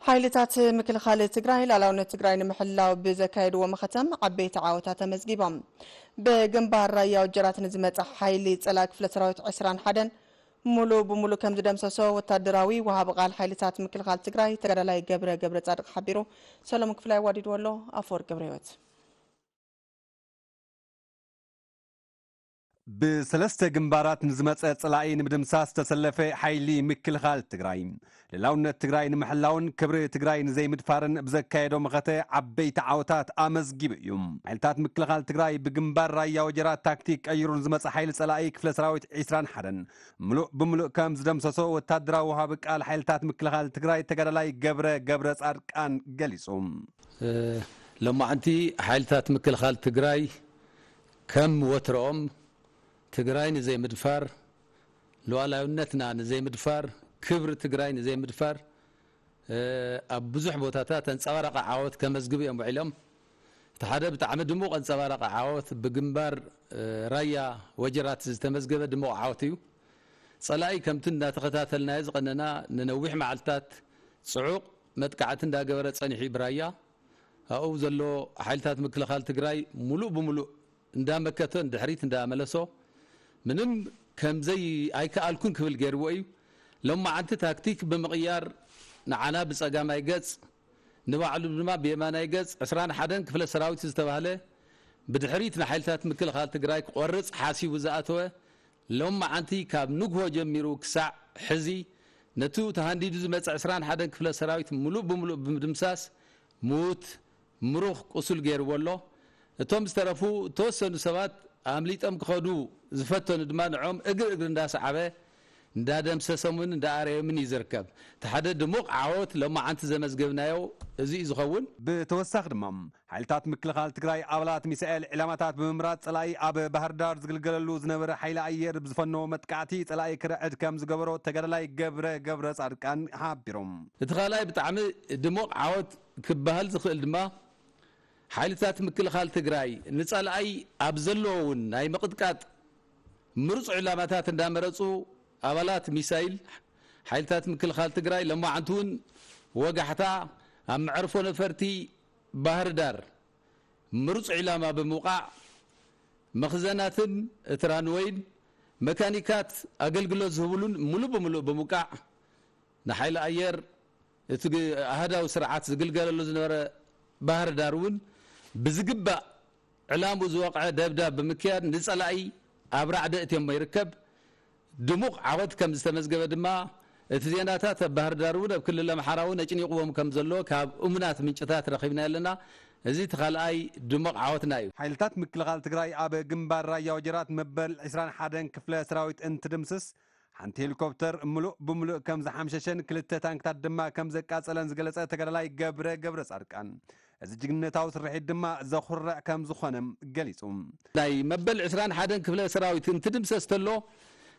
ሓይልታት ምክልኻል ትግራይ ላዕላውነት ትግራይ ንምሕላው ብዘካየድዎ መኸተም ዓበይቲ ዓወታት ተመዝጊቦም። ብግንባር ራያ ወጀራት ንዝመፀ ሓይሊ ፀላኢ ክፍለ ሰራዊት ዕስራን ሓደን ሙሉእ ብሙሉእ ከም ዝደምሰሶ ወታደራዊ ወሃቢ ቃል ሓይልታት ምክልኻል ትግራይ ተጋዳላይ ገብረ ገብረ ጻድቅ ሓቢሩ። ሰሎሞን ክፍላይ ኣዋዲድዎ ኣሎ። ኣፈወርቅ ገብረ ህይወት። ብሰለስተ ግንባራት ንዝመጸ ጸላኢ ንምድምሳስ ዝተሰለፈ ሓይሊ ምክልኻል ትግራይ፣ ልላውነት ትግራይ ንምሕላውን ክብሪ ትግራይ ንዘይምድፋርን ብዘካየዶ መኸተ ዓበይቲ ዓወታት ኣመዝጊቡ እዩ። ሓይልታት ምክልኻል ትግራይ ብግንባር ራያ ወጀራት ታክቲክ ቀይሩ ንዝመጸ ሓይሊ ጸላኢ ክፍለ ሰራዊት ዕስራን ሓደን ምሉእ ብምሉእ ከም ዝደምሰሶ ወታደራዊ ወሃቢ ቃል ሓይልታት ምክልኻል ትግራይ ተጋዳላይ ገብረ ገብረ ጻድቃን ገሊጹ። እ፣ ሎማዕንቲ ሓይልታት ምክልኻል ትግራይ ከም ወትሮኦም ትግራይ ንዘይምድፋር፣ ሉዓላዊነትና ንዘይምድፋር፣ ክብሪ ትግራይ ንዘይምድፋር፣ እ፣ ኣብ ብዙሕ ቦታታት ኣንጸባራቂ ዓወት ከመዝግቡ እዮም ውዒሎም። እቲ ሓደ ብጣዕሚ ድሙቕ ኣንጸባራቂ ዓወት ብግንባር፣ እ፣ ራያ ወጀራት ዝተመዝገበ ድሙቕ ዓወት እዩ። ጸላኢ ከምቲ እንዳተኸታተልናዮ ዝቐነና ንነዊሕ መዓልትታት ጽዑቕ መጥቃዕቲ እንዳገበረ ጸኒሑ እዩ ብራያ። ኣብኡ ዘሎ ሓይልታት ምክልኻል ትግራይ ሙሉእ ብሙሉእ እንዳመከተ ንድሕሪት እንዳመለሶ ምንም ከምዘይ ኣይከኣልኩን ክብል ገይርዎ እዩ። ሎማዓንቲ ታክቲክ ብምቕያር ንዓና ብጸጋማይ ገጽ ንባዕሉ ድማ ብየማናይ ገጽ ዕስራን ሓደን ክፍለ ሰራዊት ዝተባህለ ብድሕሪት ንሓይልታት ምክልኻል ትግራይ ክቆርጽ ሓሲቡ ዝኣተወ ሎማዓንቲ ካብ ንግሆ ጀሚሩ ክሳዕ ሕዚ ነቱ ተሃንዲዱ ዝመጸ ዕስራን ሓደን ክፍለ ሰራዊት ሙሉእ ብሙሉእ ብምድምሳስ ሙት ምሩኽ ቁሱል ገይርዎ ኣሎ። እቶም ዝተረፉ እተወሰኑ ሰባት ኣምሊጦም ክኸዱ ዝፈተኑ ድማ ንዖም እግሪ እግሪ እንዳሰዓበ እንዳደምሰሶምን እንዳኣረዮምን እዩ ዝርከብ። እቲ ሓደ ድሙቕ ዓወት ሎማዓንቲ ዘመዝገብናዮ እዚ እዩ ዝኸውን። ብተወሳኺ ድማ ሓይልታት ምክልኻል ትግራይ ኣባላት ሚሳኤል ዕላማታት ብምምራፅ ፀላኢ ኣብ ባህር ዳር ዝግልገለሉ ዝነበረ ሓይሊ ኣየር ብዝፈነዎ መጥቃዕቲ ፀላኢ ክርዕድ ከም ዝገበሮ ተጋዳላይ ገብረ ገብረ ፃድቃን ሓቢሮም። እቲ ካልኣይ ብጣዕሚ ድሙቕ ዓወት ክበሃል ዝኽእል ድማ ሓይልታት ምክልኻል ትግራይ ንፀላኢ ኣብ ዘለዎ እውን ናይ ምቕጥቃጥ ምሩፅ ዕላማታት እንዳመረፁ ኣባላት ሚሳይል ሓይልታት ምክልኻል ትግራይ ለማዓንቲ እውን ወጋሕታ ኣብ መዕርፎ ነፈርቲ ባህር ዳር ምሩፅ ዕላማ ብምውቃዕ መኽዘናትን እቲ ራንወይን መካኒካት ኣገልግሎት ዝህብሉን ሙሉእ ብምሉእ ብምውቃዕ ንሓይሊ ኣየር እቲ ግ-፣ ኣሃዳዊ ስርዓት ዝግልገለሉ ዝነበረ ባህር ዳር እውን ብዝግባእ ዕላምኡ ዝወቕዐ ደብዳብ ብምክያድ ንጸላኢ ኣብ ራዕዲ እትዮሞ ይርከብ። ድሙቕ ዓወት ከም ዝተመዝገበ ድማ እቲ ዜናታት ኣብ ባህር ዳር እውን ኣብ ክልል ኣምሓራ እውን ኣጭኒቕዎም ከም ዘሎ ካብ እሙናት ምንጭታት ረኺብና ኣለና። እዚ እቲ ካልኣይ ድሙቕ ዓወትና እዩ። ሓይልታት ምክልኻል ትግራይ ኣብ ግንባር ራያ ወጀራት መበል ዕስራን ሓደን ክፍለ ሰራዊት እንትድምስስ ሓንቲ ሄሊኮፕተር ምሉእ ብምሉእ ከም ዝሓምሸሸን ክልተ ታንክታት ድማ ከም ዘቃጸለን ዝገለጸ ተጋዳላይ ገብረ ገብረ ጻድቃን፣ እዚ ጅግንነታዊ ስርሒት ድማ ዘኹርዕ ከም ዝኾነ ገሊጹ። ናይ መበል ዕስራን ሓደን ክፍለ ሰራዊት እንትድምሰስ ተሎ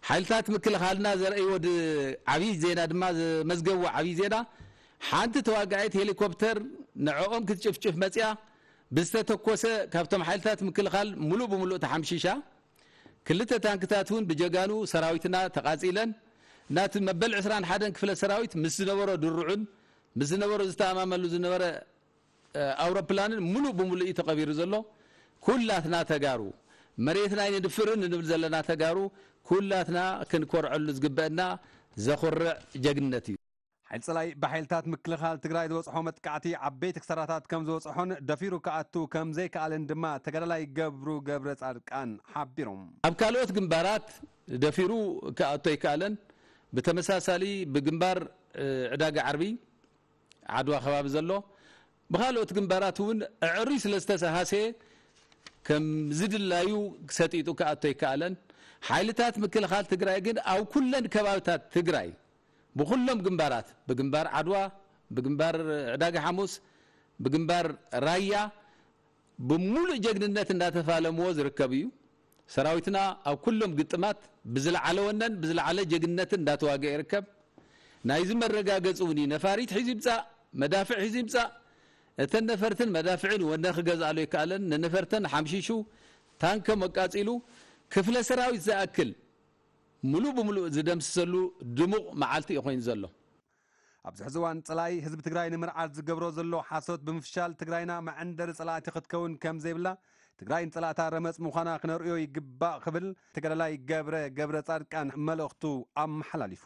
ሓይልታት ምክልኻልና ዘርእይዎ ድ-፣ ዓብዪ ዜና ድማ ዘመዝገብዎ ዓብዪ ዜና ሓንቲ ተዋጋኢት ሄሊኮፕተር ንዕኦም ክትጭፍጭፍ መጽያ ብዝተተኮሰ ካብቶም ሓይልታት ምክልኻል ሙሉእ ብምሉእ ተሓምሺሻ። ክልተ ታንክታት እውን ብጀጋኑ ሰራዊትና ተቓጺለን። ናቲ መበል ዕስራን ሓደን ክፍለ ሰራዊት ምስ ዝነበሮ ድርዑን ምስ ዝነበሮ ዝተኣማመሉ ዝነበረ፣ እ፣ ኣውሮፕላንን ሙሉእ ብሙሉእ እዩ ተቐቢሩ ዘሎ። ኩላትና ተጋሩ፣ መሬትና ኣይንድፍርን እንብል ዘለና ተጋሩ፣ ኩላትና ክንኮርዐሉ ዝግበአና ዘኹርዕ ጀግንነት እዩ። ሓይሊ ጸላኢ ብሓይልታት ምክልኻል ትግራይ ዝበጽሖ መጥቃዕቲ ዓበይቲ ክሳራታት ከም ዝበጽሖን ደፊሩ ክኣቱ ከም ዘይከኣለን ድማ ተጋዳላይ ገብሩ ገብረ ጻድቃን ሓቢሮም። ኣብ ካልኦት ግንባራት ደፊሩ ክኣቱ ኣይከኣለን። ብተመሳሳሊ ብግንባር፣ እ፣ ዕዳጋ ዓርቢ ዓድዋ ከባቢ ዘሎ ብኻልኦት ግንባራት እውን ኣዕርዩ ስለ ዝተሰሃሰየ ከም ዝድላዩ ሰጢጡ ክኣቶ ኣይከኣለን። ሓይልታት ምክልኻል ትግራይ ግን ኣብ ኩለን ከባብታት ትግራይ ብኹሎም ግንባራት፣ ብግንባር ዓድዋ፣ ብግንባር ዕዳጋ ሓሙስ፣ ብግንባር ራያ ብምሉእ ጀግንነት እንዳተፋለምዎ ዝርከብ እዩ። ሰራዊትና ኣብ ኩሎም ግጥማት ብዝለዓለ ወነን ብዝለዓለ ጀግንነትን እንዳተዋገአ ይርከብ። ናይዚ መረጋገፂ እውን እዩ። ነፋሪት ሒዙ ይምፃእ፣ መዳፍዕ ሒዙ ይምፃእ፣ እተን ነፈርትን መዳፍዕን ወነ ክገዝኣሉ ኣይከኣለን። ንነፈርተን ሓምሺሹ፣ ታንኮም ኣቃፂሉ፣ ክፍለ ሰራዊት ዝኣክል ሙሉእ ብሙሉእ ዝደምስሰሉ ድሙቕ መዓልቲ እዩ ኮይኑ ዘሎ። ኣብዚ ሕዚ እዋን ጸላኢ ህዝቢ ትግራይ ንምርዓድ ዝገብሮ ዘሎ ሓሶት ብምፍሻል ትግራይና መዐንደሪ ጸላእቲ ክትከውን ከም ዘይብላ፣ ትግራይ ንጸላእታ ረመጽ ምዃና ክነርእዮ ይግባእ ክብል ተጋዳላይ ገብረ ገብረ ጻድቃን መልእኽቱ ኣመሓላሊፉ።